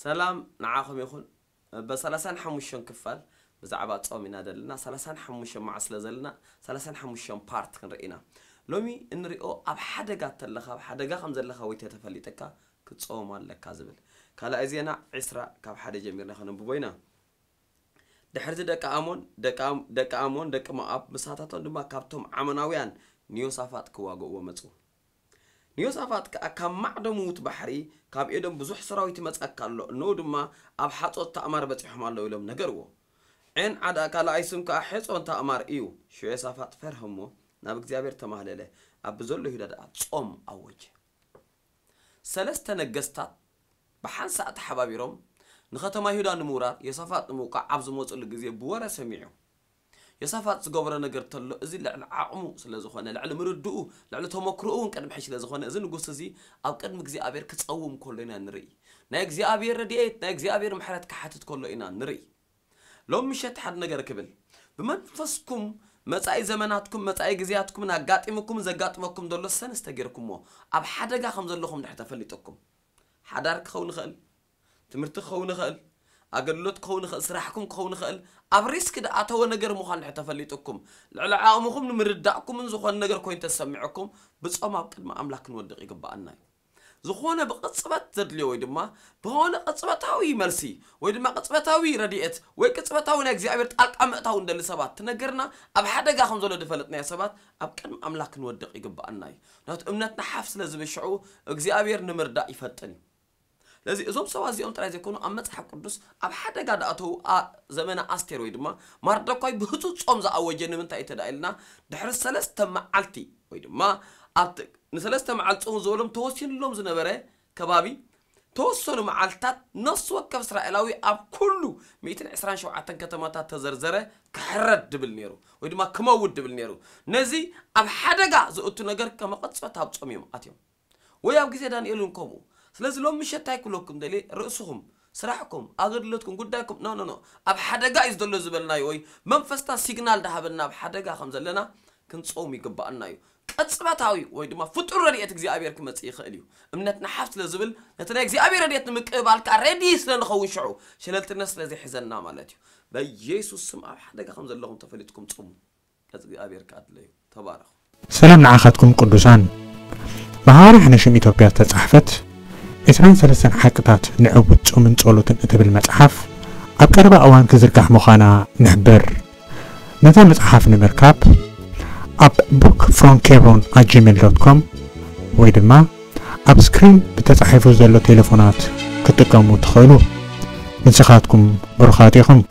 ሰላም ንዓኹም ይኹን። በ35 ክፋል ብዛዕባ ጾም ኢና ዘለና። ሰላሳ ሓሙሽተ መዓልቲ ስለ ዘለና፣ ሰላሳ ሓሙሽተ ፓርት ክንርኢ ኢና። ሎሚ እንሪኦ ኣብ ሓደጋ ተለኻ፣ ኣብ ሓደጋ ከም ዘለኻ ወይ ተተፈሊጠካ ክትጾም ኣለካ ዝብል። ካልኣይ ዜና ዕስራ ካብ ሓደ ጀሚርና ከነንብቦ ኢና። ድሕርዚ ደቂ ኣሞን፣ ደቂ ኣም-፣ ደቂ ኣሞን ደቂ ሞኣብ ምሳታቶም ድማ ካብቶም ዓሞናውያን ንዮሳፋጥ ክዋግእዎ መጹ። ንዮሳፋጥ ከኣ ካብ ማዕዶ ምዉት ባሕሪ፣ ካብ ኤዶም ብዙሕ ሰራዊት ይመጸካ ኣሎ፣ እነሆ ድማ ኣብ ሓጾት ታእማር በጺሖም ኣለዉ ኢሎም ነገርዎ። ዔን ዓዳ ካልኣይ ስም ከኣ ሔጾን ታእማር እዩ። ሽዑ ዮሳፋጥ ፈርሀ እሞ ናብ እግዚኣብሔር ተማህለለ፣ ኣብ ብዘሎ ይሁዳ ደኣ ጾም ኣወጀ። ሰለስተ ነገስታት ብሓንሳእ ተሓባቢሮም ንኸተማ ይሁዳ ንምውራር ዮሳፋጥ ንምውቃዕ ኣብ ዝመጹሉ ግዜ ብወረ ሰሚዑ። ዮሳፋጥ ዝገበሮ ነገር ተሎ፣ እዚ ልዕሊ ዓቕሙ ስለ ዝኾነ፣ ልዕሊ ምርድኡ፣ ልዕሊ ተመክሮኡ እውን ቅድሚ ሕጂ ስለ ዝኾነ፣ እዚ ንጉስ እዚ ኣብ ቅድሚ እግዚኣብሔር ክጸውም ከሎ ኢና ንርኢ። ናይ እግዚኣብሔር ረድኤት፣ ናይ እግዚኣብሔር ምሕረት ክሓትት ከሎ ኢና ንርኢ። ሎም ምሸት ሓደ ነገር ክብል፣ ብመንፈስኩም መጻኢ ዘመናትኩም፣ መጻኢ ግዜያትኩምን ኣጋጢሙኩምን ዘጋጥመኩም ዘሎ ሰንስ ተጌርኩሞ፣ ኣብ ሓደጋ ከም ዘለኹም ድሕር ተፈሊጠኩም። ሓዳር ክኸውን ይኽእል፣ ትምህርቲ ክኸውን ይኽእል፣ ኣገልግሎት ክኸውን ይኽእል፣ ስራሕኩም ክኸውን ይኽእል። ኣብ ሪስክ ድኣተወ ነገር ምዃን ድሕር ተፈሊጥኩም፣ ልዕሊ ዓቕምኹም ንምርዳእኩምን ዝኾነ ነገር ኮይኑ ተሰሚዕኩም፣ ብጾም ኣብ ቅድሚ ኣምላኽ ክንወድቕ ይግብኣና እዩ። ዝኾነ ብቕጽበት ዘድልዮ ወይ ድማ ብኾነ ቅጽበታዊ መልሲ ወይ ድማ ቅጽበታዊ ረድኤት ወይ ቅጽበታዊ ናይ እግዚኣብሔር ጣልቃ ምእታው እንደሊ ሰባት ትነገርና፣ ኣብ ሓደጋ ከም ዘሎ ዝፈለጥናዮ ሰባት ኣብ ቅድሚ ኣምላኽ ክንወድቕ ይግብኣና እዩ። ምክንያቱ እምነትና ሓፍ ስለ ዝብል ሽዑ እግዚኣብሔር ንምርዳእ ይፈጥን እዩ። ስለዚ እዞም ሰባት እዚኦም ጥራይ ዘይኮኑ ኣብ መጽሓፍ ቅዱስ ኣብ ሓደጋ ድኣተዉ ኣ-፣ ዘመነ ኣስቴር ወይ ድማ ማርዶኳይ ብህጹጽ ጾም ዝኣወጀ ንምንታይ እዩ ተዳ ኢልና ድሕሪ ሰለስተ መዓልቲ ወይ ድማ ኣብቲ ንሰለስተ መዓልቲ ጾም ዝበሎም ተወሲኑሎም ዝነበረ ከባቢ ተወሰኑ መዓልትታት ነፍሲ ወከፍ እስራኤላዊ ኣብ ኩሉ ሚእትን ዕስራን ሸውዓተን ከተማታት ተዘርዘረ ክሕረድ ድብል ነይሩ ወይ ድማ ክመውት ድብል ነይሩ። ነዚ ኣብ ሓደጋ ዘእቱ ነገር ከመቐጽበት ኣብ ጾም እዮም ኣትዮም። ወይ ኣብ ግዜ ዳንኤል እውን ከምኡ። ስለዚ ሎም ምሸት እንታይ ክብለኩም ደልየ፣ ርእስኹም፣ ስራሕኩም፣ ኣገልግሎትኩም፣ ጉዳይኩም፣ ኖ፣ ኖ፣ ኖ፣ ኣብ ሓደጋ እዩ ዘሎ ዝበልናዮ ወይ መንፈስና ሲግናል ዳሃበና ኣብ ሓደጋ ከም ዘለና ክንጸውም ይግብኣና እዩ። ቅጽበታዊ ወይ ድማ ፍጡር ረድኤት እግዚኣብሔር ክመጽእ ይኽእል እዩ። እምነትና ሓፍ ስለ ዝብል ነቲ ናይ እግዚኣብሔር ረድኤት ንምቅባል ከኣ ሬዲ ስለ ንኸውን ሽዑ ሸለልትነት ስለ ዘይሕዘና ማለት እዩ። በኢየሱስ ስም ኣብ ሓደጋ ከም ዘለኹም ተፈሊጥኩም ጽሙ። እግዚኣብሔር ከኣ ድለዩ። ተባረኹ። ሰላም ንዓኻትኩም ቅዱሳን። ብሃዋርያ ሓነሽም ኢትዮጵያ ዝተጻሕፈት ዕስራን ሰለስተን ሓቅታት ንዕቡት ጾምን ጸሎትን እትብል መጽሓፍ ኣብ ቀረባ እዋን ክዝርጋሕ ምዃና ንሕብር። ነታ መጽሓፍ ንምርካብ ኣብ book from hebron at gmail dot com ወይ ድማ ኣብ ስክሪን ብተጻሒፉ ዘሎ ቴሌፎናት ክትጥቀሙ ትኽእሉ። ንስኻትኩም ብሩኻት ኢኹም።